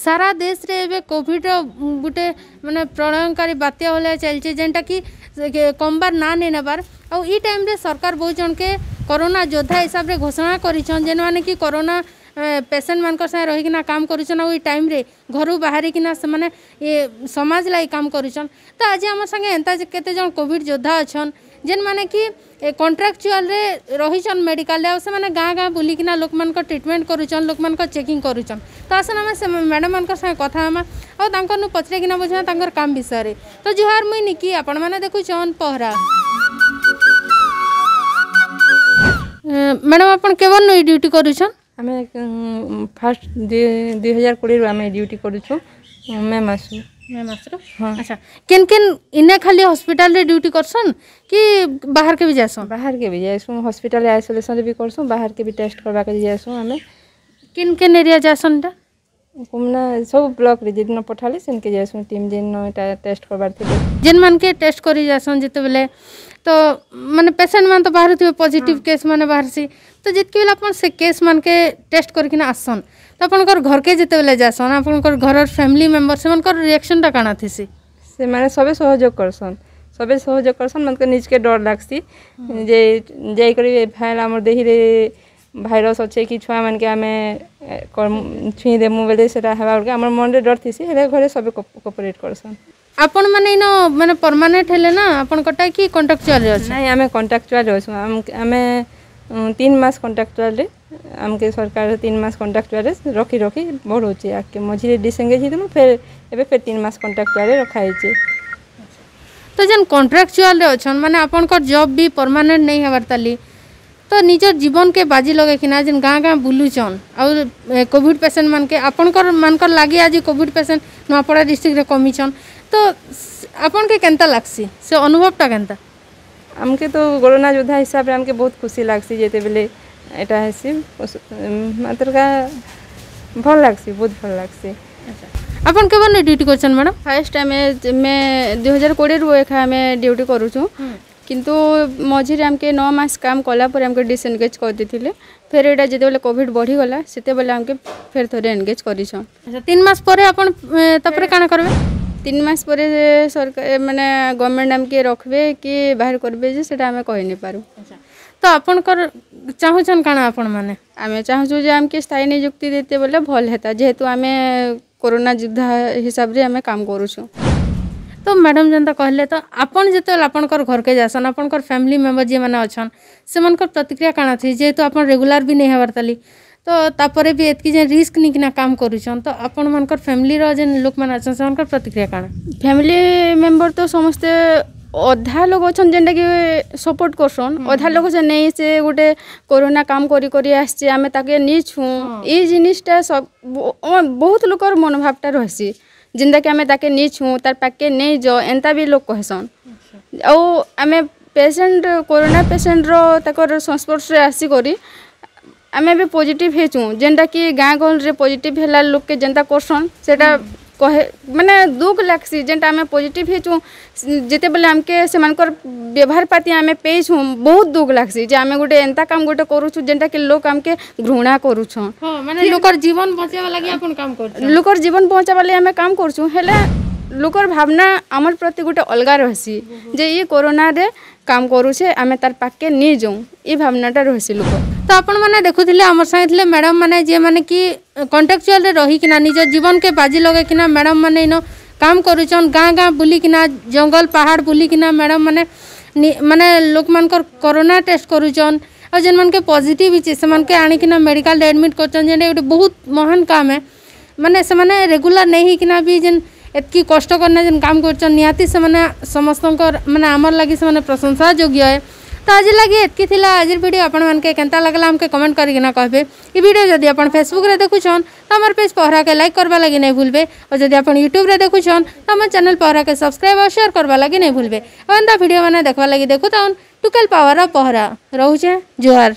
ସାରା ଦେଶରେ ଏବେ କୋଭିଡର ଗୋଟେ ମାନେ ପ୍ରଳୟଙ୍କାରୀ ବାତ୍ୟା ଭଳିଆ ଚାଲିছে, ଯେନ୍ଟାକି କମବାର ନା ନେଇ ନେବାର। ଆଉ ଇ ଟାଇମ୍ରେ ସରକାର ବହୁତ ଜଣକେ କରୋନା ଯୋଦ୍ଧା ହିସାବରେ ଘୋଷଣା କରିଛନ୍, ଯେନ୍ମାନେ କି କରୋନା ପେସେଣ୍ଟ ମାନଙ୍କର ସାଙ୍ଗେ ରହିକିନା କାମ କରୁଛନ୍ ଆଉ ଏଇ ଟାଇମ୍ରେ ଘରୁ ବାହାରିକିନା ସେମାନେ ଏ ସମାଜ ଲାଗି କାମ କରୁଛନ୍। ତ ଆଜି ଆମ ସାଙ୍ଗେ ଏନ୍ତା କେତେ ଜଣ କୋଭିଡ ଯୋଦ୍ଧା ଅଛନ୍, ଯେନ୍ମାନେ କି କଣ୍ଟ୍ରାକ୍ଚୁଆଲରେ ରହିଛନ୍ ମେଡ଼ିକାଲରେ ଆଉ ସେମାନେ ଗାଁ ଗାଁ ବୁଲିକିନା ଲୋକମାନଙ୍କ ଟ୍ରିଟମେଣ୍ଟ କରୁଛନ୍, ଲୋକମାନଙ୍କ ଚେକିଂ କରୁଛନ୍। ତ ଆସନ୍ ଆମେ ସେ ମ୍ୟାଡ଼ାମମାନଙ୍କ ସାଙ୍ଗେ କଥା ହେମା ଆଉ ତାଙ୍କରନୁ ପଚରେଇକିନା ବୁଝମା ତାଙ୍କର କାମ ବିଷୟରେ। ତ ଜୁହାର, ମୁଇଁ ନିକି, ଆପଣମାନେ ଦେଖୁଛନ୍ ପହରା। ମ୍ୟାଡ଼ାମ, ଆପଣ କେବଳ ଏଇ ଡ୍ୟୁଟି କରୁଛନ୍? ଆମେ ଫାର୍ଷ୍ଟ 2020ରୁ ଆମେ ଡ୍ୟୁଟି କରୁଛୁ, ମେ ମାସରୁ। ମେ ମାସରୁ? ହଁ। ଆଚ୍ଛା, କେନ୍ କେନ୍ ଇନେ ଖାଲି ହସ୍ପିଟାଲରେ ଡ୍ୟୁଟି କରସନ୍ କି ବାହାରକେ ବି ଯାଏସନ୍? ବାହାରକେ ବି ଯାଏସୁଁ, ହସ୍ପିଟାଲରେ ଆଇସୋଲେସନରେ ବି କରସୁଁ, ବାହାରକେ ବି ଟେଷ୍ଟ କରବାକେ ଯାଏସୁଁ ଆମେ। କେନ୍ କେନ୍ ଏରିଆ ଯାଏସନ୍ ଏଟା? କୁମନା ସବୁ ବ୍ଲକରେ ଯେଦିନ ପଠାଲେ ସେନ୍କେ ଯାଏସୁଁ ଟିମ୍, ଯେନ ଏଟା ଟେଷ୍ଟ କରବାର ଥିଲେ। ଯେନ୍ମାନକେ ଟେଷ୍ଟ କରି ଯାଏସନ୍ ଯେତେବେଲେ, ତ ମାନେ ପେସେଣ୍ଟ ମାନେ ତ ବାହାରୁଥିବେ, ପଜିଟିଭ କେସ୍ ମାନେ ବାହାରସି। ତ ଯେତ୍କି ବେଲେ ଆପଣ ସେ କେସ୍ ମାନକେ ଟେଷ୍ଟ କରିକିନା ଆସନ୍, ତ ଆପଣଙ୍କର ଘରକେ ଯେତେବେଲେ ଯାଏସନ୍, ଆପଣଙ୍କର ଘରର ଫ୍ୟାମିଲି ମେମ୍ବର ସେମାନଙ୍କର ରିଆକ୍ସନଟା କାଣା ଥିସି? ସେମାନେ ସବେ ସହଯୋଗ କରସନ୍, ସବେ ସହଯୋଗ କରସନ୍। ମନକେ ନିଜକେ ଡର ଲାଗ୍ସି ଯେ ଯାଇକରି ଫେର୍ ଆମର ଦେହିରେ ଭାଇରସ୍ ଅଛେ କି ଛୁଆମାନକେ ଆମେ ଛୁଇଁ ଦେମୁ ବେଲେ ସେଟା ହେବା ବେଲକେ ଆମର ମନରେ ଡର ଥିସି। ହେଲେ ଘରେ ସବେ କୋପରେଟ୍ କରସନ୍। ଆପଣ ମାନେ ଇନ ମାନେ ପରମାନେଣ୍ଟ ହେଲେ ନା ଆପଣଙ୍କଟା କି କଣ୍ଟ୍ରାକ୍ଚୁଆଲରେ ଅଛି? ନାଇଁ, ଆମେ କଣ୍ଟ୍ରାକ୍ଚୁଆଲରେ ଅଛୁ। ଆମେ 3 ମାସ କଣ୍ଟ୍ରାକ୍ଚୁଆଲରେ, ଆମକେ ସରକାର 3 ମାସ କଣ୍ଟ୍ରାକ୍ଚୁଆଲରେ ରଖି ରଖି ବଢ଼ଉଛି ଆଗକେ। ମଝିରେ ଡିସଏଙ୍ଗେଜ୍ ହେଇଥିଲୁ, ଫେର୍ ଏବେ ଫେର୍ 3 ମାସ କଣ୍ଟ୍ରାକ୍ଚୁଆଲରେ ରଖା ହେଇଛି। ତ ଯେନ୍ କଣ୍ଟ୍ରାକ୍ଚୁଆଲରେ ଅଛନ୍, ମାନେ ଆପଣଙ୍କର ଜବ୍ ବି ପରମାନେଣ୍ଟ ନେଇ ହେବାର ତାଲି, ତ ନିଜର ଜୀବନକେ ବାଜି ଲଗେଇକିନା ଯେନ୍ ଗାଁ ଗାଁ ବୁଲୁଛନ୍ ଆଉ କୋଭିଡ ପେସେଣ୍ଟ ମାନକେ, ଆପଣଙ୍କର ମାନଙ୍କର ଲାଗି ଆଜି କୋଭିଡ ପେସେଣ୍ଟ ନୂଆପଡ଼ା ଡିଷ୍ଟ୍ରିକ୍ଟରେ କମିଛନ୍, ତ ଆପଣକେ କେନ୍ତା ଲାଗ୍ସି, ସେ ଅନୁଭବଟା କେନ୍ତା? ଆମକେ ତ କରୋନା ଯୋଦ୍ଧା ହିସାବରେ ଆମକେ ବହୁତ ଖୁସି ଲାଗ୍ସି। ଯେତେବେଲେ ଏଟା ହେସି ମାତ୍ରକା ଭଲ ଲାଗ୍ସି, ବହୁତ ଭଲ ଲାଗ୍ସି। ଆପଣ କେବେ ଡ୍ୟୁଟି କରୁଛନ୍ ମ୍ୟାଡ଼ାମ? ଫାର୍ଷ୍ଟ ଆମେ ମେ 2020ରୁ ଏଖା ଆମେ ଡ୍ୟୁଟି କରୁଛୁ, କିନ୍ତୁ ମଝିରେ ଆମକେ 9 ମାସ କାମ କଲା ପରେ ଆମକେ ଡିସଏନଗେଜ୍ କରିଦେଇଥିଲେ। ଫେର୍ ଏଇଟା ଯେତେବେଳେ କୋଭିଡ଼ ବଢ଼ିଗଲା, ସେତେବେଳେ ଆମକେ ଫେର୍ ଥରେ ଏନଗେଜ୍ କରିଛନ୍। ଆଚ୍ଛା, 3 ମାସ ପରେ ଆପଣ ତାପରେ କାଣା କରିବେ? 3 ମାସ ପରେ ସରକାର ମାନେ ଗଭର୍ଣ୍ଣମେଣ୍ଟ ଆମକେ ରଖିବେ କି ବାହାର କରିବେ ଯେ ସେଟା ଆମେ କହି ନାଇଁ ପାରୁ। ତ ଆପଣଙ୍କର ଚାହୁଁଛନ୍ କାଣା ଆପଣ ମାନେ? ଆମେ ଚାହୁଁଛୁ ଯେ ଆମକେ ସ୍ଥାୟୀ ନିଯୁକ୍ତି ଦେଇତେ ବୋଲେ ଭଲ ହେତା, ଯେହେତୁ ଆମେ କରୋନା ଯୋଦ୍ଧା ହିସାବରେ ଆମେ କାମ କରୁଛୁ। ତ ମ୍ୟାଡ଼ାମ ଯେନ୍ତା କହିଲେ, ତ ଆପଣ ଯେତେବେଳେ ଆପଣଙ୍କର ଘରକେ ଯାଏସନ୍, ଆପଣଙ୍କର ଫ୍ୟାମିଲି ମେମ୍ବର ଯିଏମାନେ ଅଛନ୍, ସେମାନଙ୍କର ପ୍ରତିକ୍ରିୟା କାଣା ଥି? ଯେହେତୁ ଆପଣ ରେଗୁଲାର ବି ନେଇ ହେବାର ତାଲି, ତ ତାପରେ ବି ଏତ୍କି ଯେନ୍ ରିସ୍କ ନେଇକିନା କାମ କରୁଛନ୍, ତ ଆପଣମାନଙ୍କର ଫ୍ୟାମିଲିର ଯେନ୍ ଲୋକମାନେ ଅଛନ୍, ସେମାନଙ୍କର ପ୍ରତିକ୍ରିୟା କାଣା? ଫ୍ୟାମିଲି ମେମ୍ବର ତ ସମସ୍ତେ, ଅଧା ଲୋକ ଅଛନ୍ ଯେନ୍ଟାକି ସପୋର୍ଟ କରସନ୍, ଅଧା ଲୋକ ଅଛନ୍ ନେଇ ସେ ଗୋଟେ କରୋନା କାମ କରି କରି ଆସିছে, ଆମେ ତାକେ ନି ଛୁଁ। ଏଇ ଜିନିଷଟା ସବ ବହୁତ ଲୋକର ମନୋଭାବଟା ରହେସି, ଯେନ୍ଟାକି ଆମେ ତାକେ ନି ଛୁଁ, ତାର୍ ପାଖକେ ନେଇ ଯାଅ, ଏନ୍ତା ବି ଲୋକ କହେସନ୍। ଆଉ ଆମେ ପେସେଣ୍ଟ, କରୋନା ପେସେଣ୍ଟର ତାକର ସଂସ୍ପର୍ଶରେ ଆସିକରି ଆମେ ବି ପଜିଟିଭ୍ ହେଇଛୁଁ, ଯେନ୍ଟାକି ଗାଁ ଗହଳିରେ ପଜିଟିଭ୍ ହେଲା ଲୋକକେ ଯେନ୍ତା କରସନ୍, ସେଟା କହେ ମାନେ ଦୁଃଖ ଲାଗ୍ସି। ଯେନ୍ଟା ଆମେ ପଜିଟିଭ୍ ହେଇଛୁଁ, ଯେତେବେଲେ ଆମକେ ସେମାନଙ୍କର ବ୍ୟବହାର ପାତି ଆମେ ପେଇଛୁଁ, ବହୁତ ଦୁଃଖ ଲାଗ୍ସି ଯେ ଆମେ ଗୋଟେ ଏନ୍ତା କାମ ଗୋଟେ କରୁଛୁ ଯେନ୍ଟାକି ଲୋକ ଆମକେ ଘୃଣା କରୁଛନ୍। ହଁ, ମାନେ ଲୋକର ଜୀବନ ବଞ୍ଚାଇବା ଲାଗି ଆପଣ କାମ କରୁଛନ୍। ଲୋକର ଜୀବନ ବଞ୍ଚାଇବା ଲାଗି ଆମେ କାମ କରୁଛୁ, ହେଲେ ଲୋକର ଭାବନା ଆମର ପ୍ରତି ଗୋଟେ ଅଲଗା ରହେସି ଯେ ଇ କରୋନାରେ କାମ କରୁଛେ, ଆମେ ତାର ପାଖକେ ନି ଯାଉଁ, ଇ ଭାବନାଟା ରହେସି ଲୋକ। ତ ଆପଣମାନେ ଦେଖୁଥିଲେ, ଆମର ସାଙ୍ଗେ ଥିଲେ ମ୍ୟାଡ଼ାମ ମାନେ, ଯିଏମାନେ କି କଣ୍ଟ୍ରାକ୍ଚୁଆଲରେ ରହିକିନା ନିଜ ଜୀବନକେ ବାଜି ଲଗେଇକିନା ମ୍ୟାଡ଼ାମ ମାନେ ଇନ କାମ କରୁଛନ୍। ଗାଁ ଗାଁ ବୁଲିକିନା, ଜଙ୍ଗଲ ପାହାଡ଼ ବୁଲିକିନା ମ୍ୟାଡ଼ାମ ମାନେ ମାନେ ଲୋକମାନଙ୍କର କରୋନା ଟେଷ୍ଟ କରୁଛନ୍ ଆଉ ଯେନ୍ମାନକେ ପଜିଟିଭ୍ ହେଇଛେ, ସେମାନକେ ଆଣିକିନା ମେଡ଼ିକାଲରେ ଆଡ଼ମିଟ୍ କରୁଛନ୍, ଯେନ୍ଟା ଗୋଟେ ବହୁତ ମହାନ କାମ ହେ। ମାନେ ସେମାନେ ରେଗୁଲାର ନେଇ ହେଇକିନା ବି ଯେନ୍ ଏତ୍କି କଷ୍ଟ କରିନା ଯେନ୍ କାମ କରୁଛନ୍, ନିହାତି ସେମାନେ ସମସ୍ତଙ୍କର ମାନେ ଆମର ଲାଗି ସେମାନେ ପ୍ରଶଂସା ଯୋଗ୍ୟ ହେ। ତ ଆଜି ଲାଗି ଏତ୍କି ଥିଲା। ଆଜିର ଭିଡ଼ିଓ ଆପଣମାନକେ କେନ୍ତା ଲାଗଲା, ଆମକେ କମେଣ୍ଟ କରିକିନା କହିବେ। ଇ ଭିଡ଼ିଓ ଯଦି ଆପଣ ଫେସବୁକରେ ଦେଖୁଛନ୍, ତ ଆମର ପେଜ୍ ପହରାକେ ଲାଇକ୍ କରବା ଲାଗି ନାଇଁ ଭୁଲବେ। ଆଉ ଯଦି ଆପଣ ୟୁଟ୍ୟୁବରେ ଦେଖୁଛନ୍, ତ ଆମର ଚ୍ୟାନେଲ୍ ପହରାକେ ସବସ୍କ୍ରାଇବ୍ ଆଉ ସେୟାର କରବା ଲାଗି ନାଇଁ ଭୁଲବେ। ଆଉ ଏନ୍ତା ଭିଡ଼ିଓ ମାନେ ଦେଖବା ଲାଗି ଦେଖୁଥାଉନ୍ ଟୁକେଲ ପାୱାର ପହରା। ରହୁଛେ, ଜୁହାର।